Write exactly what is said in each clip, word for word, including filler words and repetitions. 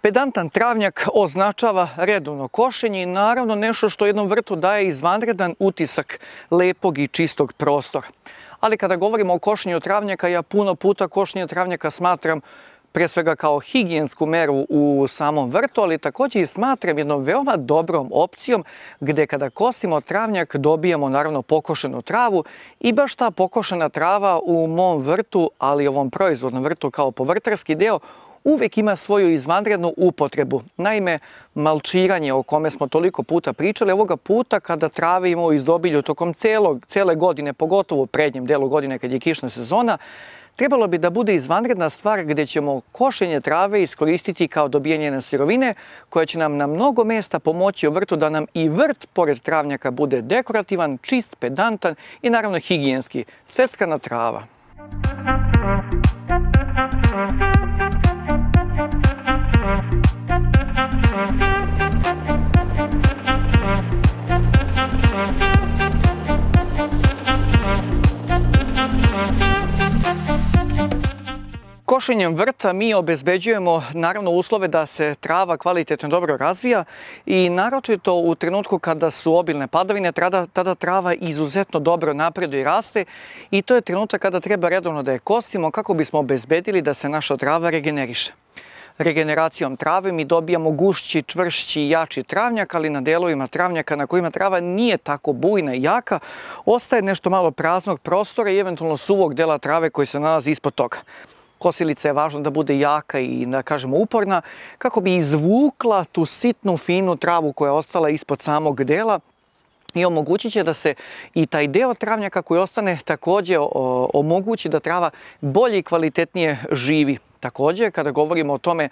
Pedantan travnjak označava redovno košenje i naravno nešto što jednom vrtu daje izvanredan utisak lepog i čistog prostora. Ali kada govorimo o košenju travnjaka, ja puno puta košenje travnjaka smatram pre svega kao higijensku meru u samom vrtu, ali također i smatram jednom veoma dobrom opcijom gde kada kosimo travnjak dobijamo naravno pokošenu travu i baš ta pokošena trava u mom vrtu, ali i ovom proizvodnom vrtu kao povrtarski deo, uvek ima svoju izvanrednu upotrebu. Naime, malčiranje o kome smo toliko puta pričali, ovoga puta kada trave imamo u izobilju tokom celog, cele godine, pogotovo u prednjem delu godine kad je kišna sezona, trebalo bi da bude izvanredna stvar gde ćemo košenje trave iskoristiti kao dobijanje jedne sirovine koja će nam na mnogo mesta pomoći u vrtu da nam i vrt pored travnjaka bude dekorativan, čist, pedantan i naravno higijenski. Seckana trava. Košenjem vrta mi obezbeđujemo naravno uslove da se trava kvalitetno dobro razvija i naročito u trenutku kada su obilne padavine, tada, tada trava izuzetno dobro napreduje i raste i to je trenutak kada treba redovno da je kosimo kako bismo obezbedili da se naša trava regeneriše. Regeneracijom trave mi dobijamo gušći, čvršći i jači travnjak, ali na delovima travnjaka na kojima trava nije tako bujna i jaka, ostaje nešto malo praznog prostora i eventualno suvog dela trave koji se nalazi ispod toga. Kosilica je važno da bude jaka i, da kažemo, uporna, kako bi izvukla tu sitnu, finu travu koja je ostala ispod samog dela i omogućit će da se i taj deo travnjaka koji ostane također omogući da trava bolje i kvalitetnije živi. Također, kada govorimo o tome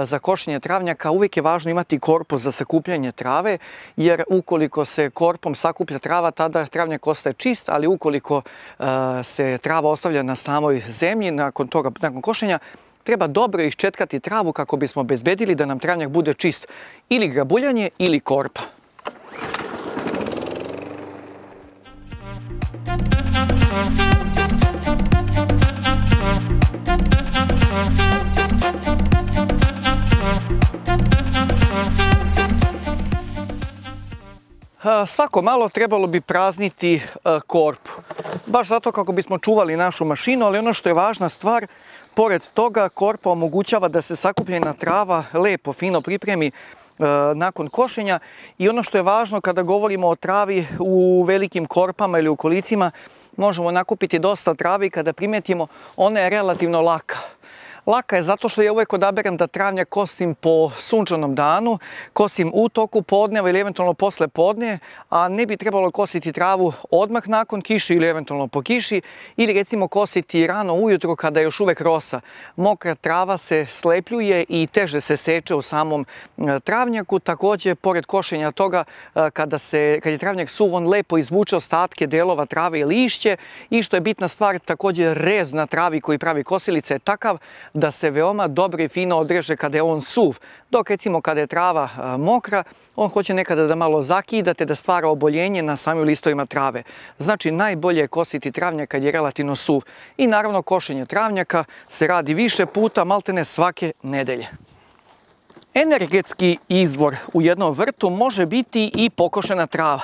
za košenje travnjaka, uvijek je važno imati korpus za sakupljanje trave, jer ukoliko se korpom sakuplja trava, tada travnjak ostaje čist, ali ukoliko se trava ostavlja na samoj zemlji, nakon toga, nakon košenja, treba dobro iščetkati travu kako bismo obezbedili da nam travnjak bude čist, ili grabuljanje ili korpa. Svako malo trebalo bi prazniti korpu. Baš zato kako bismo čuvali našu mašinu, ali ono što je važna stvar, pored toga korpa omogućava da se sakupljena trava lepo, fino pripremi nakon košenja i ono što je važno kada govorimo o travi u velikim korpama ili u kolicima, možemo nakupiti dosta trave i kada primetimo, ona je relativno laka. Laka je zato što ja uvek odaberem da travnjak kosim po sunčanom danu, kosim u toku podneva ili eventualno posle podne, a ne bi trebalo kositi travu odmah nakon kiše ili eventualno po kiši, ili recimo kositi rano ujutro kada je još uvek rosa. Mokra trava se slepljuje i teže se seče u samom travnjaku. Također, pored košenja toga, kada, se, kad je travnjak suv, on lepo izvuče ostatke delova trave i lišće i što je bitna stvar, također rez na travi koji pravi kosilica je takav da se veoma dobro i fino odreže kada je on suv. Dok recimo kada je trava mokra, on hoće nekada da malo zakidate, da stvara oboljenje na samim listovima trave. Znači najbolje je kositi travnjak kad je relativno suv. I naravno košenje travnjaka se radi više puta, maltene svake nedelje. Energetski izvor u jednom vrtu može biti i pokošena trava.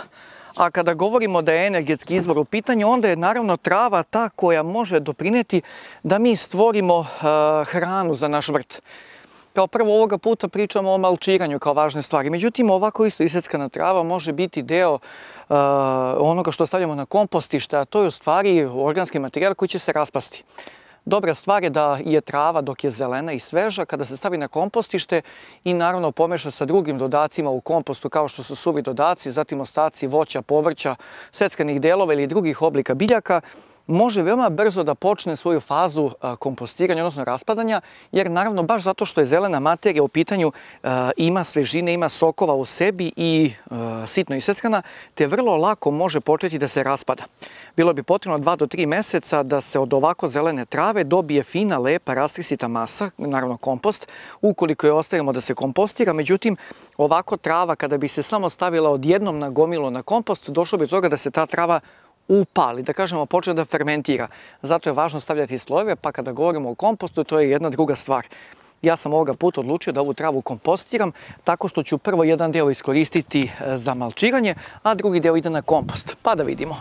A kada govorimo da je energetski izvor u pitanju, onda je naravno trava ta koja može doprineti da mi stvorimo uh, hranu za naš vrt. Kao prvo ovoga puta pričamo o malčiranju kao važne stvari. Međutim, ovako isto iseckana trava može biti deo uh, onoga što stavljamo na kompostište, a to je u stvari organski materijal koji će se raspasti. Dobra stvar je da je trava dok je zelena i sveža, kada se stavi na kompostište i naravno pomeša sa drugim dodacima u kompostu kao što su suvi dodaci, zatim ostaci voća, povrća, seckanih delova ili drugih oblika biljaka, može veoma brzo da počne svoju fazu kompostiranja, odnosno raspadanja, jer naravno baš zato što je zelena materija u pitanju ima svežine, ima sokova u sebi i sitno iseckana, te vrlo lako može početi da se raspada. Bilo bi potrebno dva do tri meseca da se od ovako zelene trave dobije fina, lepa, rastrisita masa, naravno kompost, ukoliko je ostavimo da se kompostira. Međutim, ovako trava kada bi se samo stavila odjednom na gomilu na kompost, došlo bi do toga da se ta trava upali, da kažemo, počne da fermentira. Zato je važno stavljati slojeve, pa kada govorimo o kompostu, to je jedna druga stvar. Ja sam ovoga puta odlučio da ovu travu kompostiram tako što ću prvo jedan deo iskoristiti za malčiranje, a drugi deo ide na kompost. Pa da vidimo.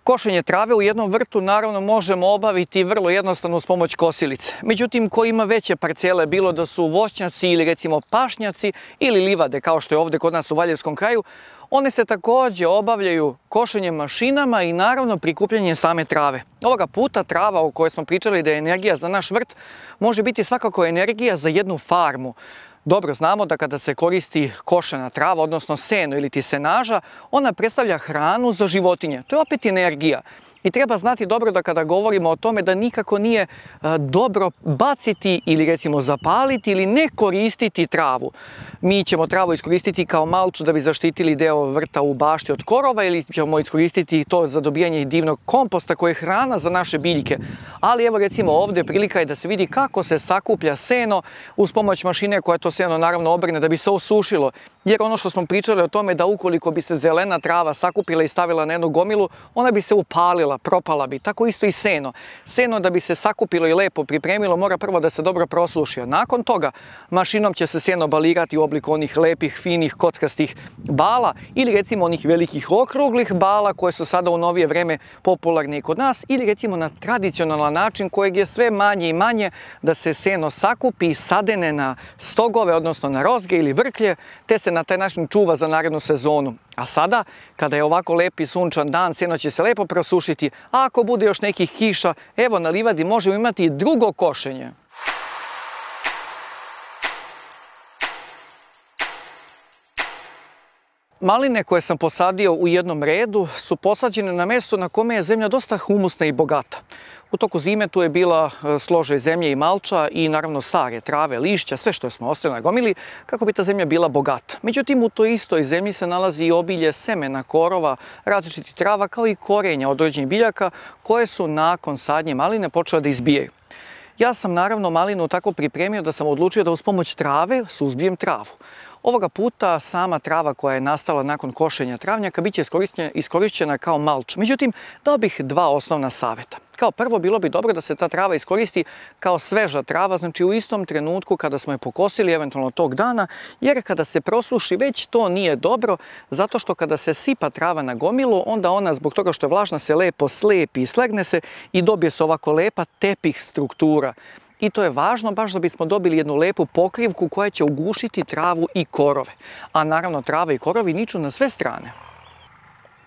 Košenje trave u jednom vrtu naravno možemo obaviti vrlo jednostavno uz pomoć kosilice. Međutim, ko ima veće parcele, bilo da su voćnjaci ili recimo pašnjaci ili livade, kao što je ovde kod nas u Valjevskom kraju, one se takođe obavljaju košenjem mašinama i naravno prikupljanjem same trave. Ovoga puta trava o kojoj smo pričali da je energija za naš vrt može biti svakako energija za jednu farmu. Dobro znamo da kada se koristi košena trava, odnosno seno ili ti senaža, ona predstavlja hranu za životinje. To je opet energija. I treba znati dobro da kada govorimo o tome da nikako nije dobro baciti ili recimo zapaliti ili ne koristiti travu. Mi ćemo travu iskoristiti kao malču da bi zaštitili deo vrta u bašti od korova ili ćemo iskoristiti to za dobijanje divnog komposta koji je hrana za naše biljke. Ali evo recimo ovde prilika je da se vidi kako se sakuplja seno uz pomoć mašine koja to seno naravno obrne da bi se osušilo. Jer ono što smo pričali o tome da ukoliko bi se zelena trava sakupila i stavila na jednu gomilu, ona bi se upalila, propala bi. Tako isto i seno. Seno da bi se sakupilo i lepo pripremilo mora prvo da se dobro prosuši. Nakon toga mašinom će se seno balirati u obliku onih lepih, finih, kockastih bala ili recimo onih velikih okruglih bala koje su sada u novije vreme popularne i kod nas ili recimo na tradicionalan način kojeg je sve manje i manje da se seno sakupi i sadene na stogove, odnosno na rozge ili vrklje, te se na taj način čuva za narednu sezonu. A sada, kada je ovako lepi sunčan dan, seno će se lepo prosušiti, a ako bude još nekih kiša, evo na livadi možemo imati i drugo košenje. Maline koje sam posadio u jednom redu su posađene na mesto na kome je zemlja dosta humusna i bogata. U toku zime tu je bila složaj zemlje i malča i naravno sare, trave, lišća, sve što smo ostavili na gomili kako bi ta zemlja bila bogata. Međutim, u toj istoj zemlji se nalazi i obilje semena, korova, različitih trava kao i korenja određenih biljaka koje su nakon sadnje maline počele da izbijaju. Ja sam naravno malinu tako pripremio da sam odlučio da uz pomoć trave suzbijem travu. Ovoga puta sama trava koja je nastala nakon košenja travnjaka biće iskorišćena kao malč. Međutim, dao bih dva osnovna saveta. Kao prvo, bilo bi dobro da se ta trava iskoristi kao sveža trava, znači u istom trenutku kada smo je pokosili, eventualno tog dana, jer kada se prosuši već to nije dobro, zato što kada se sipa trava na gomilu, onda ona zbog toga što je vlažna se lepo slepi i slegne se i dobije se ovako lepa tepih struktura. I to je važno baš da bismo dobili jednu lepu pokrivku koja će ugušiti travu i korove. A naravno trava i korovi niču na sve strane.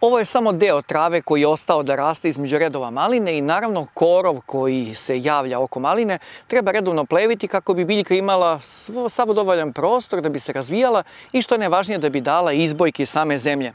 Ovo je samo deo trave koji je ostao da raste između redova maline i naravno korov koji se javlja oko maline treba redovno pleviti kako bi biljka imala sav dovoljan prostor da bi se razvijala i što je najvažnije da bi dala izbojke same zemlje.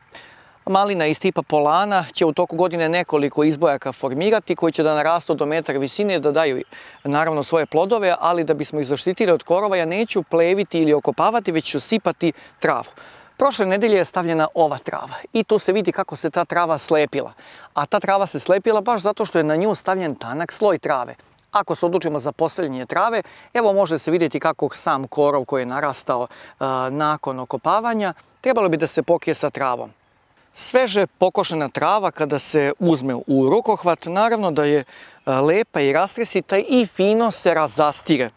Malina iz tipa polana će u toku godine nekoliko izbojaka formirati koji će da narastu do metar visine, da daju naravno svoje plodove, ali da bismo ih zaštitili od korova ja neću pleviti ili okopavati, već ću sipati travu. Prošle nedelje je stavljena ova trava i tu se vidi kako se ta trava slepila. A ta trava se slepila baš zato što je na nju stavljen tanak sloj trave. Ako se odlučimo za postavljanje trave, evo može se vidjeti kako sam korov koji je narastao a, nakon okopavanja, trebalo bi da se pokrije sa travom. Sveže pokošena trava kada se uzme u rukohvat, naravno da je lepa i rastresita i fino se razastire.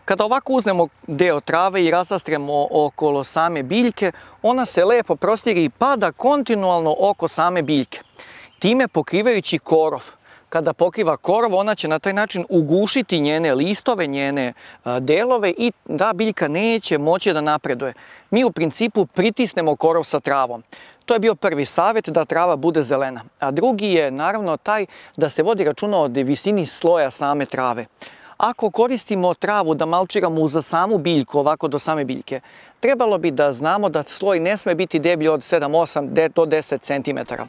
Kada ovako uzmemo deo trave i razastremo okolo same biljke, ona se lepo prostire i pada kontinualno oko same biljke. Time pokrivajući korov. Kada pokriva korov, ona će na taj način ugušiti njene listove, njene delove i da biljka neće moći da napreduje. Mi u principu pritisnemo korov sa travom. To je bio prvi savjet, da trava bude zelena. A drugi je naravno taj da se vodi računa o visini sloja same trave. Ako koristimo travu da malčiramo uz samu biljku, ovako do same biljke, trebalo bi da znamo da sloj ne sme biti deblji od sedam osam do deset centimetara.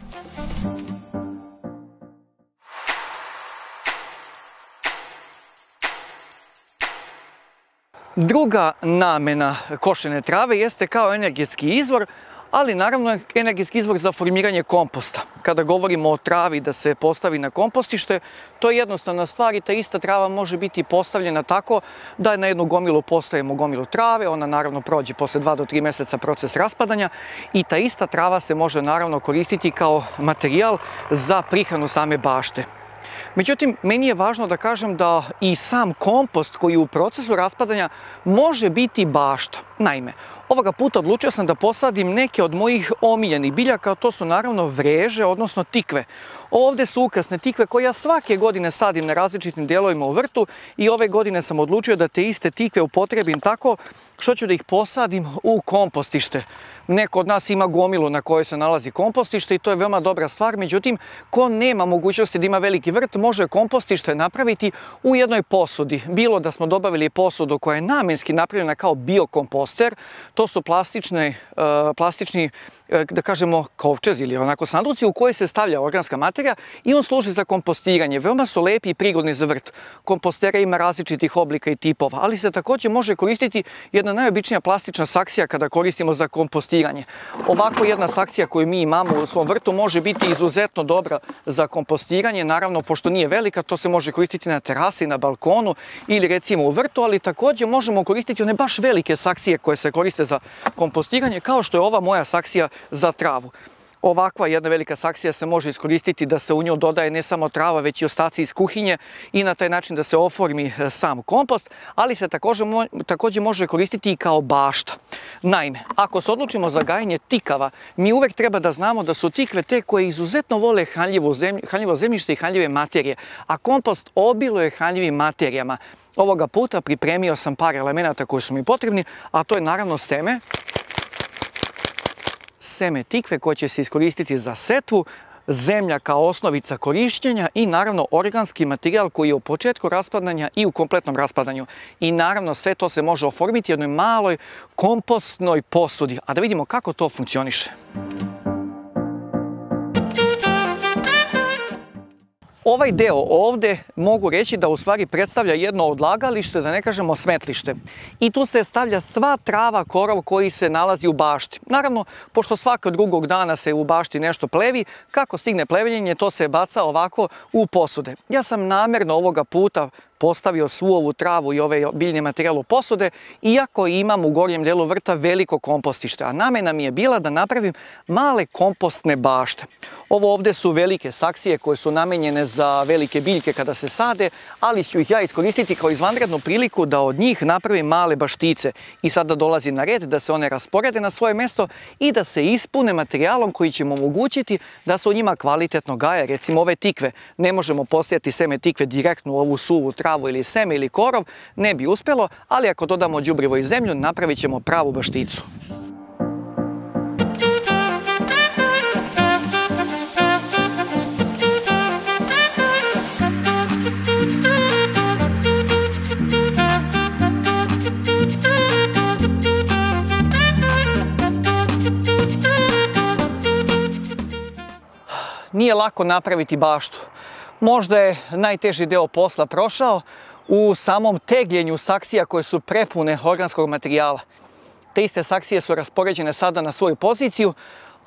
Druga namena košene trave jeste kao energetski izvor, ali naravno energetski izvor za formiranje komposta. Kada govorimo o travi da se postavi na kompostište, to je jednostavna stvar i ta ista trava može biti postavljena tako da na jednu gomilu postavimo gomilu trave, ona naravno prođe posle dva do tri meseca proces raspadanja i ta ista trava se može naravno koristiti kao materijal za prihranu same bašte. Međutim, meni je važno da kažem da i sam kompost koji u procesu raspadanja može biti bašta. Naime, ovoga puta odlučio sam da posadim neke od mojih omiljenih biljaka, to su naravno vreže, odnosno tikve. Ovde su ukrasne tikve koje ja svake godine sadim na različitim dijelovima u vrtu i ove godine sam odlučio da te iste tikve upotrebim tako što ću da ih posadim u kompostište. Neko od nas ima gomilu na kojoj se nalazi kompostište i to je veoma dobra stvar, međutim, ko nema mogućnosti da ima veliki vrt, može kompostište napraviti u jednoj posudi. Bilo da smo dobavili posudu koja je namenski napravljena kao biokomposter, to su plastične, plastični, da kažemo, kovčez ili onako sanduci u koje se stavlja organska materija i on služi za kompostiranje. Veoma su lepi i prigodni za vrt. Kompostera ima različitih oblika i tipova, ali se također može koristiti jedna najobičnija plastična saksija kada koristimo za kompostiranje. Ovako jedna saksija koju mi imamo u svom vrtu može biti izuzetno dobra za kompostiranje. Naravno, pošto nije velika, to se može koristiti na terasi, na balkonu ili recimo u vrtu, ali također možemo koristiti one baš velike saksije koje se koriste za kompostiranje, kao što je ova moja saksija za travu. Ovakva jedna velika saksija se može iskoristiti da se u nju dodaje ne samo trava, već i ostaci iz kuhinje i na taj način da se oformi sam kompost, ali se također može koristiti i kao bašta. Naime, ako se odlučimo za gajenje tikava, mi uvek treba da znamo da su tikve te koje izuzetno vole hranljivo zemljište i hranljive materije, a kompost obiluje hranljivim materijama. Ovoga puta pripremio sam par elemenata koji su mi potrebni, a to je naravno seme, seme tikve koje će se iskoristiti za setvu, zemlja kao osnovica korišćenja i naravno organski materijal koji je u početku raspadanja i u kompletnom raspadanju. I naravno sve to se može oformiti u jednoj maloj kompostnoj posudi. A da vidimo kako to funkcioniše. Ovaj deo ovde mogu reći da u stvari predstavlja jedno odlagalište, da ne kažemo smetlište. I tu se stavlja sva trava, korov koji se nalazi u bašti. Naravno, pošto svakog drugog dana se u bašti nešto plevi, kako stigne plevenjenje, to se baca ovako u posude. Ja sam namerno ovoga puta postavio svu ovu travu i ove biljne materijale u posude, iako imam u gornjem delu vrta veliko kompostište, a namena mi je bila da napravim male kompostne bašte. Ovo ovde su velike saksije koje su namenjene za velike biljke kada se sade, ali ću ih ja iskoristiti kao izvanrednu priliku da od njih napravim male baštice. I sada dolazi na red da se one rasporede na svoje mesto i da se ispune materijalom koji će mu omogućiti da se u njima kvalitetno gaje. Recimo ove tikve, ne možemo posijati seme tikve direktno u ovu suvu travu ili seme ili korov, ne bi uspjelo, ali ako dodamo đubrivo i zemlju, napravit ćemo pravu bašticu. Nije lako napraviti baštu. Možda je najteži deo posla prošao u samom tegljenju saksija koje su prepune organskog materijala. Te iste saksije su raspoređene sada na svoju poziciju,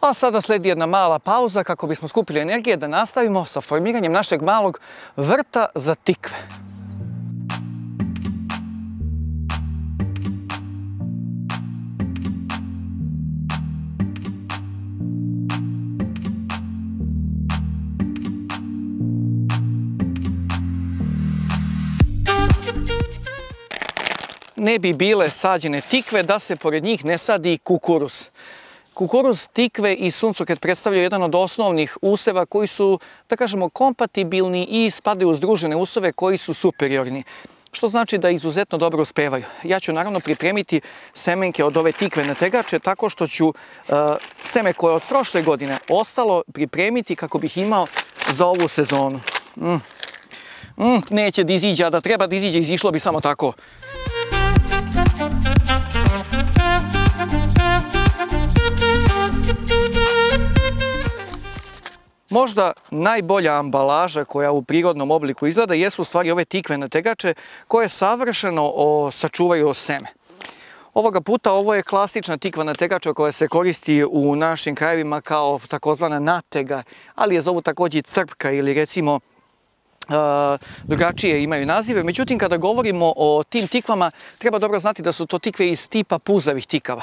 a sada sledi jedna mala pauza kako bismo skupili energije da nastavimo sa formiranjem našeg malog vrta za tikve. Ne bi bile sađene tikve da se pored njih ne sadi kukuruz. Kukuruz, tikve i suncokret predstavljaju jedan od osnovnih useva koji su, da kažemo, kompatibilni i spadaju u združene useve koji su superiorni. Što znači da izuzetno dobro uspevaju. Ja ću naravno pripremiti semenke od ove tikve na tegače tako što ću uh, seme koje od prošle godine ostalo pripremiti kako bih imao za ovu sezonu. Mm. Mm, neće da iziđe, a da treba da iziđe, izišlo bi samo tako. Možda najbolja ambalaža koja u prirodnom obliku izgleda jesu u stvari ove tikvene tegače koje savršeno o, sačuvaju seme. Ovoga puta ovo je klasična tikvena tegača koja se koristi u našim krajevima kao takozvana natega, ali je zovu također crpka ili recimo Uh, drugačije imaju nazive. Međutim, kada govorimo o tim tikvama, treba dobro znati da su to tikve iz tipa puzavih tikava.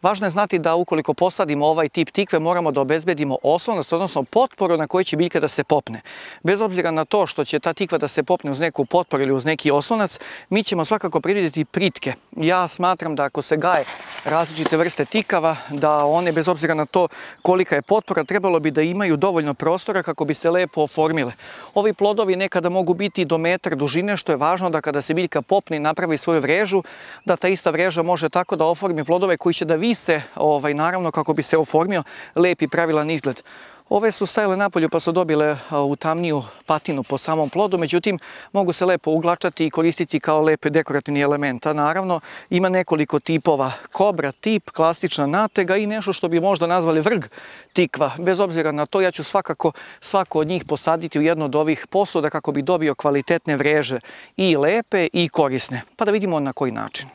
Važno je znati da ukoliko posadimo ovaj tip tikve, moramo da obezbedimo oslonac, odnosno potporu na kojoj će biljka da se popne. Bez obzira na to što će ta tikva da se popne uz neku potporu ili uz neki oslonac, mi ćemo svakako predvidjeti pritke. Ja smatram da ako se gaje različite vrste tikava, da one, bez obzira na to kolika je potpora, trebalo bi da imaju dovoljno prostora kako bi se lepo oformile. Ovi plodovi nekada mogu biti do metar dužine, što je važno da kada se biljka popne i napravi svoju vrežu, da ta ista vreža može tako da oformi plodove koji će da vise, ovaj, naravno kako bi se oformio lep i pravilan izgled. Ove su stajale napolju pa su dobile u tamniju patinu po samom plodu, međutim mogu se lepo uglačati i koristiti kao lep dekorativni element. A naravno ima nekoliko tipova: kobra tip, klasična natega i nešto što bi možda nazvali vrg tikva. Bez obzira na to, ja ću svakako svako od njih posaditi u jedno od ovih posuda kako bi dobio kvalitetne vreže, i lepe i korisne. Pa da vidimo na koji način.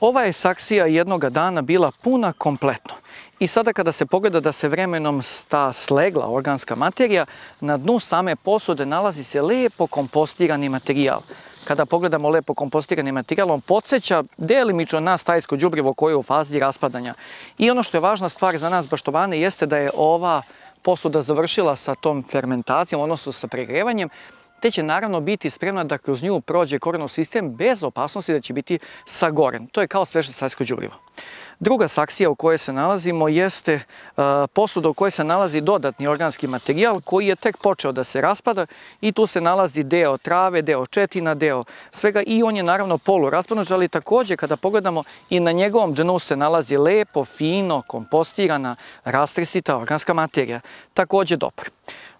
Ova je saksija jednoga dana bila puna kompletno. I sada kada se pogleda da se vremenom sta slegla organska materija, na dnu same posude nalazi se lepo kompostirani materijal. Kada pogledamo lepo kompostirani materijal, on podsjeća delimično na stajsko đubrivo koje je u fazi raspadanja. I ono što je važna stvar za nas baštovane jeste da je ova posuda završila sa tom fermentacijom, odnosno sa pregrevanjem, te će naravno biti spremna da kroz nju prođe korenov sistem bez opasnosti da će biti sagoren. To je kao sveže stajsko đubrivo. Druga saksija u kojoj se nalazimo jeste uh, posuda u kojoj se nalazi dodatni organski materijal koji je tek počeo da se raspada i tu se nalazi deo trave, deo četina, deo svega i on je naravno poluraspadnut, ali također kada pogledamo i na njegovom dnu se nalazi lepo, fino, kompostirana, rastresita organska materija. Također dobar.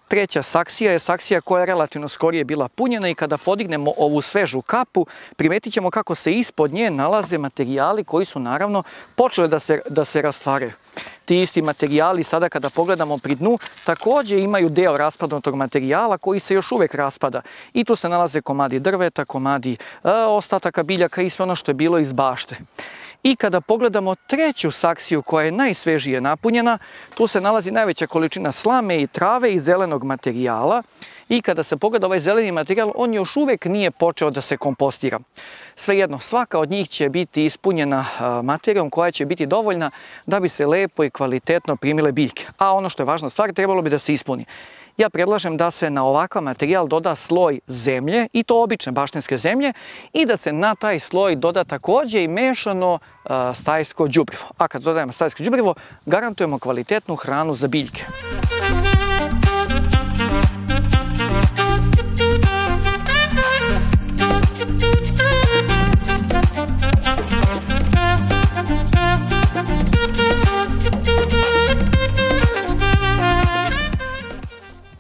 Treća saksija je saksija koja je relativno skorije bila punjena i kada podignemo ovu svežu kapu, primetit ćemo kako se ispod nje nalaze materijali koji su naravno počeli da se, da se rastvaraju. Ti isti materijali sada kada pogledamo pri dnu također imaju deo raspadnutog materijala koji se još uvijek raspada. I tu se nalaze komadi drveta, komadi e, ostataka biljaka i sve ono što je bilo iz bašte. I kada pogledamo treću saksiju koja je najsvežije napunjena, tu se nalazi najveća količina slame i trave i zelenog materijala. I kada se pogleda ovaj zeleni materijal, on još uvijek nije počeo da se kompostira. Svejedno, svaka od njih će biti ispunjena materijom koja će biti dovoljna da bi se lepo i kvalitetno primile biljke. A ono što je važna stvar, trebalo bi da se ispuni. Ja predlažem da se na ovakav materijal doda sloj zemlje, i to obične baštenske zemlje, i da se na taj sloj doda također i mešano stajsko đubrivo. A kad dodajemo stajsko đubrivo, garantujemo kvalitetnu hranu za biljke.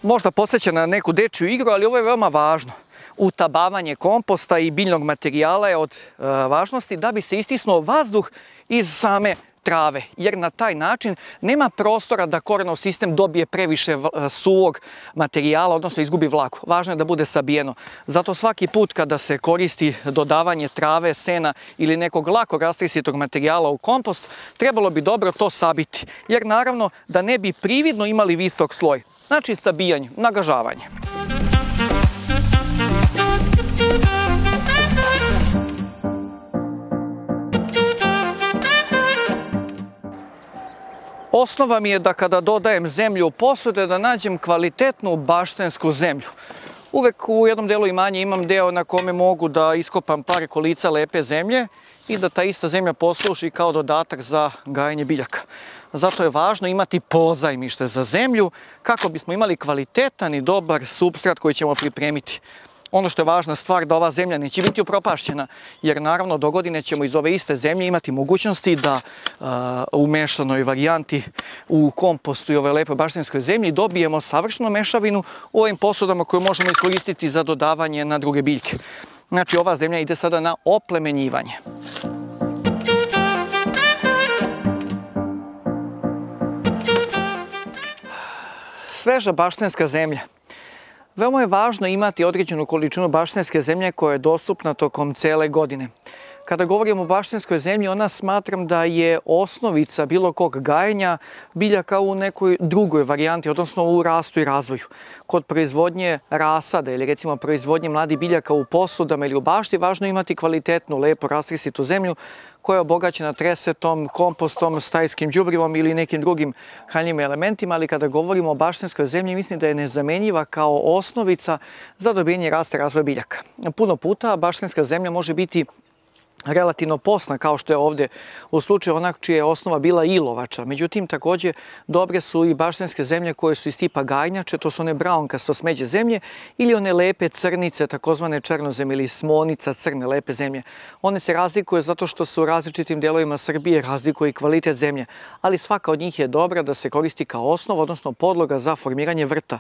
Možda podsjeća na neku dečju igru, ali ovo je veoma važno. Utabavanje komposta i biljnog materijala je od e, važnosti da bi se istisnuo vazduh iz same trave, jer na taj način nema prostora da korenov sistem dobije previše suvog materijala, odnosno izgubi vlagu. Važno je da bude sabijeno. Zato svaki put kada se koristi dodavanje trave, sena ili nekog lako rastresitog materijala u kompost, trebalo bi dobro to sabiti, jer naravno da ne bi prividno imali visok sloj. Znači sabijanje, nagažavanje. Osnova mi je da kada dodajem zemlju u posude da nađem kvalitetnu baštensku zemlju. Uvek u jednom delu imanja imam deo na kome mogu da iskopam par kolica lepe zemlje i da ta ista zemlja posluži kao dodatak za gajenje biljaka. Zato je važno imati pozajmište za zemlju kako bismo imali kvalitetan i dobar supstrat koji ćemo pripremiti. Ono što je važna stvar da ova zemlja neće biti upropašćena, jer naravno do godine ćemo iz ove iste zemlje imati mogućnosti da uh, u mešanoj varijanti u kompostu i ove lepe baštenskoj zemlji dobijemo savršenu mešavinu u ovim posudama koju možemo iskoristiti za dodavanje na druge biljke. Znači ova zemlja ide sada na oplemenjivanje. Sveža baštenska zemlja. Veoma je važno imati određenu količinu baštenske zemlje koja je dostupna tokom cele godine. Kada govorimo o baštenskoj zemlji, ona smatram da je osnovica bilo kog gajenja biljaka u nekoj drugoj varijanti, odnosno u rastu i razvoju. Kod proizvodnje rasada ili recimo proizvodnje mladih biljaka u posudama ili u bašti, važno je imati kvalitetnu, lepo rastrisitu zemlju koja je obogaćena tresetom, kompostom, stajskim đubrivom ili nekim drugim hranjivim elementima, ali kada govorimo o baštenskoj zemlji, mislim da je nezamenjiva kao osnovica za dobijanje rasta i razvoja biljaka. Puno puta baštenska zemlja može biti relativno posna, kao što je ovdje u slučaju onak čija je osnova bila ilovača. Međutim, također dobre su i baštenske zemlje koje su iz tipa gajnjače, to su one braunkasto smeđe zemlje ili one lepe crnice, takozvane černozem ili smonica, crne lepe zemlje. One se razlikuju zato što su u različitim delovima Srbije razlikuje i kvalitet zemlje, ali svaka od njih je dobra da se koristi kao osnova, odnosno podloga za formiranje vrta.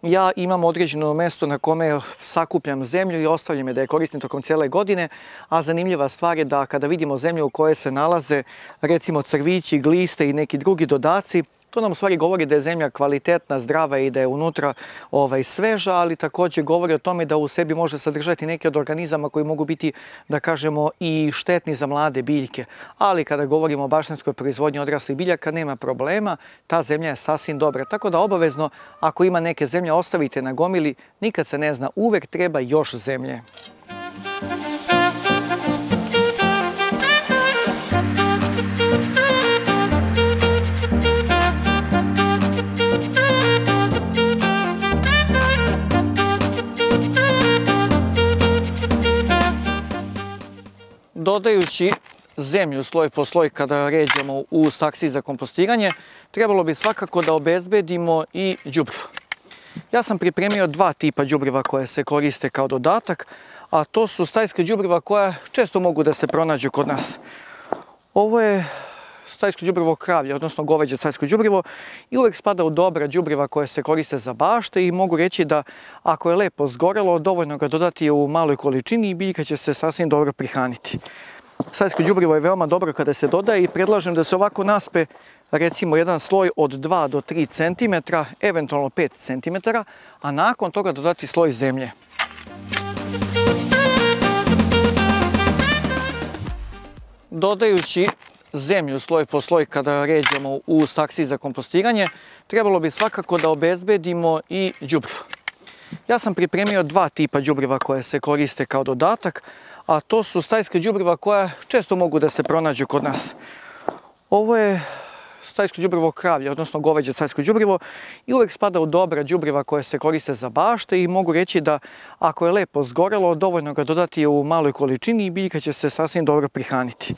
Ja imam određeno mesto na kome sakupljam zemlju i ostavljam je da je koristim tokom cijele godine, a zanimljiva stvar je da kada vidimo zemlju u kojoj se nalaze recimo crvići, gliste i neki drugi dodaci, to nam u stvari govori da je zemlja kvalitetna, zdrava i da je unutra ovaj, sveža, ali također govori o tome da u sebi može sadržati neke od organizama koji mogu biti, da kažemo, i štetni za mlade biljke. Ali kada govorimo o baštenskoj proizvodnji odraslih biljaka, nema problema, ta zemlja je sasvim dobra. Tako da obavezno, ako ima neke zemlje, ostavite na gomili, nikad se ne zna, uvek treba još zemlje. Dodajući zemlju sloj po sloj kada ređamo u saksiji za kompostiranje, trebalo bi svakako da obezbedimo i đubrivo. Ja sam pripremio dva tipa đubriva koje se koriste kao dodatak, a to su stajska đubriva koja često mogu da se pronađu kod nas. Ovo je stajsko đubrivo kravlje, odnosno goveđe stajsko đubrivo i uvek spada u dobra đubriva koje se koriste za bašte i mogu reći da ako je lepo zgorelo, dovoljno ga dodati u maloj količini i biljka će se sasvim dobro prihraniti. Stajsko đubrivo je veoma dobro kada se dodaje i predlažem da se ovako naspe recimo jedan sloj od dva do tri centimetra, eventualno pet centimetara, a nakon toga dodati sloj zemlje. Dodajući zemlju sloj po sloj kada ređamo u saksiji za kompostiranje, trebalo bi svakako da obezbedimo i đubrivo. Ja sam pripremio dva tipa đubriva koje se koriste kao dodatak, a to su stajska đubriva koja često mogu da se pronađu kod nas. Ovo je stajsko đubrivo kravlje, odnosno goveđe stajsko đubrivo i uvek spada u dobra đubriva koje se koriste za bašte i mogu reći da ako je lepo zgorelo, dovoljno ga dodati u maloj količini i biljka će se sasvim dobro prihraniti.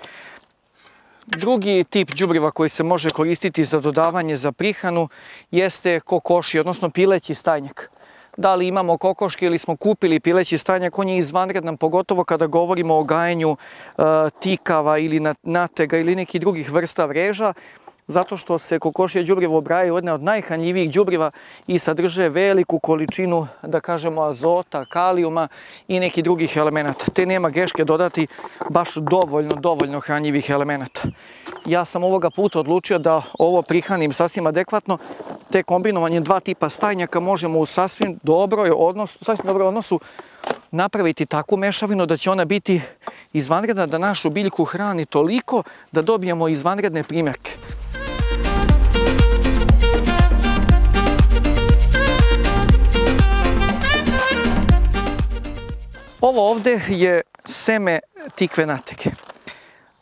Drugi tip đubriva koji se može koristiti za dodavanje za prihranu jeste kokoši, odnosno pileći stajnjak. Da li imamo kokoške ili smo kupili pileći stajnjak, on je izvanredan, pogotovo kada govorimo o gajenju e, tikava ili natega ili nekih drugih vrsta vreža, zato što se kokošje đubrivo ubrajaju jedne od najhranjivijih đubriva i sadrže veliku količinu, da kažemo, azota, kalijuma i nekih drugih elemenata. Te nema greške dodati baš dovoljno, dovoljno hranjivih elemenata. Ja sam ovoga puta odlučio da ovo prihranim sasvim adekvatno, te kombinovanje dva tipa stajnjaka možemo u sasvim dobroj odnosu, sasvim dobroj odnosu napraviti takvu mešavinu da će ona biti izvanredna, da našu biljku hrani toliko da dobijemo izvanredne primjerke. Ovo ovdje je seme tikve natege.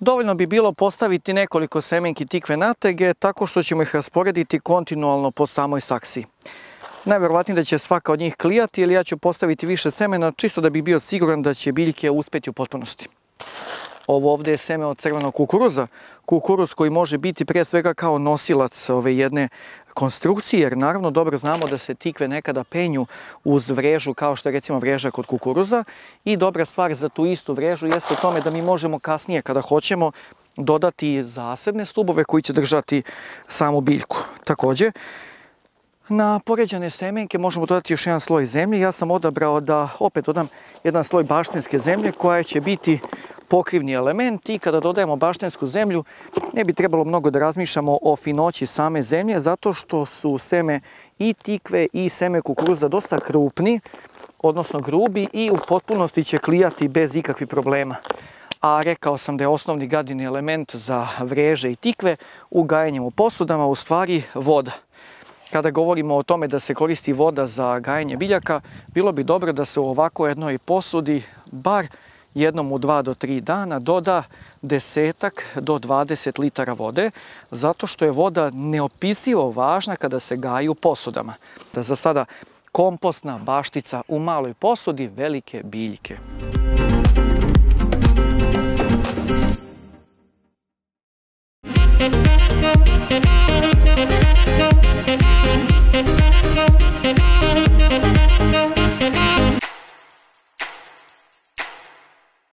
Dovoljno bi bilo postaviti nekoliko semenki tikve natege tako što ćemo ih rasporediti kontinualno po samoj saksiji. Najverovatnije da će svaka od njih klijati, ili ja ću postaviti više semena čisto da bi bio siguran da će biljke uspjeti u potpunosti. Ovo ovdje je seme od crvenog kukuruza. Kukuruz koji može biti pre svega kao nosilac ove jedne konstrukcije, jer naravno dobro znamo da se tikve nekada penju uz vrežu, kao što je recimo vreža kod kukuruza. I dobra stvar za tu istu vrežu jeste u tome da mi možemo kasnije, kada hoćemo, dodati zasebne stubove koji će držati samu biljku. Također, na poređane semenke možemo dodati još jedan sloj zemlje. Ja sam odabrao da opet dodam jedan sloj baštenske zemlje koja će biti pokrivni element i kada dodajemo baštensku zemlju ne bi trebalo mnogo da razmišljamo o finoći same zemlje zato što su seme i tikve i seme kukuruza dosta krupni, odnosno grubi i u potpunosti će klijati bez ikakvih problema. A rekao sam da je osnovni gadini element za vreže i tikve u gajenjem u posudama u stvari voda. Kada govorimo o tome da se koristi voda za gajenje biljaka, bilo bi dobro da se u ovako jednoj posudi bar jednom u dva do tri dana doda desetak do dvadeset litara vode, zato što je voda neopisivo važna kada se gaji u posudama. Da za sada kompostna baštica u maloj posudi velike biljke. Thank you.